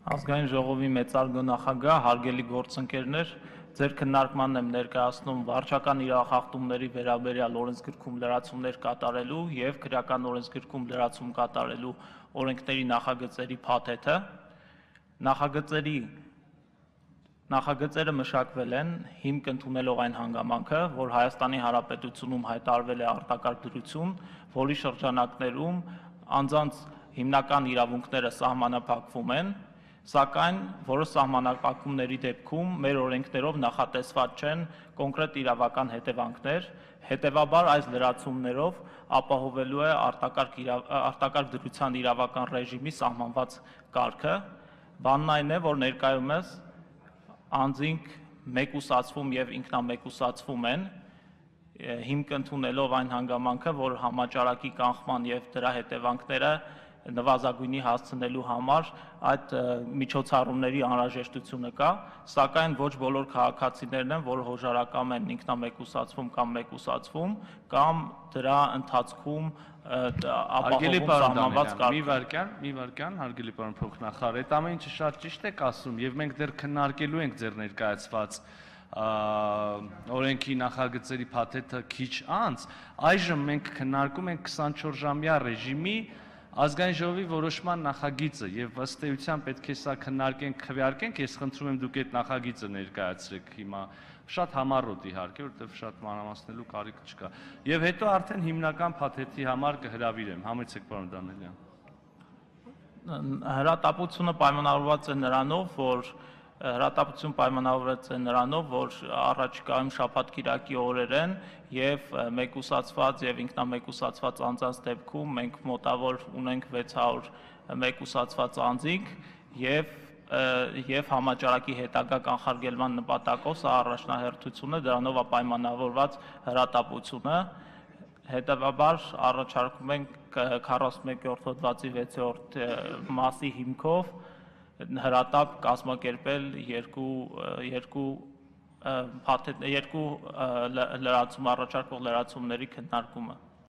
Ազգային ժողովի մեծարգո նախագահ, հարգելի գործընկերներ, ձեր քննարկմանն եմ ներկայացնում վարչական իրավախախտումների վերաբերյալ օրենսգրքում լրացումներ կատարելու և քրեական օրենսգրքում լրացում կատարելու օրենքների նախագծերի փաթեթը։ Նախագծերը մշակվել են հիմք ընդունելով այն հանգամանքը, որ Հայաստանի Հանրապետությունում հայտարարվել է արտակարգ դրություն, որի շրջանակներում անձանց հիմնական իրավունքները սահմանափակվում են, սակայն որոշ սահմանափակումների դեպքում մեր օրենքներով նախատեսված չեն կոնկրետ իրավական հետևանքներ, հետևաբար այս լրացումներով ապահովելու է արտակարգ դրության իրավական ռեժիմի սահմանված կարգը, բանն այն է, որ ներկայումս անձինք մեկուսացվում և ինքնամեկուսացվում են, հիմք ընդունելով այն հանգամանքը, որ համաճարակի կանխման և դրա հետևանքները նվազագույնի հասցնելու համար այդ միջոցառումների անհրաժեշտությունը կա, սակայն ոչ բոլոր քաղաքացիներն են, որ հոժարակամ են ինքնամեկուսացվում կամ մեկուսացվում, կամ դրա ընթացքում ապահովում սահմանված կարգը։ Մի վարքյան, հարգելի պարոն փոխնախարար, այդ ամեն ինչը շատ ճիշտ եք ասում, և մենք դեռ քննարկելու ենք ձեր ներկայացված օրենքի նախագծերի փաթեթը քիչ անց, այժմ մենք քննարկում ենք 24-ժամյա ռեժիմի Ազգային ժողովի որոշման նախագիծը և ըստ էության պետք է սա քննարկենք, քվեարկենք, ես խնդրում եմ դուք այդ նախագիծը ներկայացրեք հիմա, շատ համառոտ իհարկե, որովհետև շատ մանրամասնելու կարիք չկա։ Եվ հետո արդեն հիմնական փաթեթի համար կհրավիրեմ, համեցեք պարոն Դանիելյան։ Հրատապությունը պայմանավորված է նրանով, որ առաջիկայում շաբաթ-կիրակի օրեր են և մեկուսացված և ինքնամեկուսացված անձանց դեպքում մենք մոտավոր ունենք 600 մեկուսացված անձինք և համաճարակի հետագա կանխարգելման նպատակով սա առաջնահերթություն է, դրանով է պայմանավորված հրատապությունը, հետևաբար առաջարկում ենք 41-րդ հոդվածի 6-րդ մասի հիմքով հրատապ կազմակերպել երկու առաջարկվող լրացումների քննարկումը։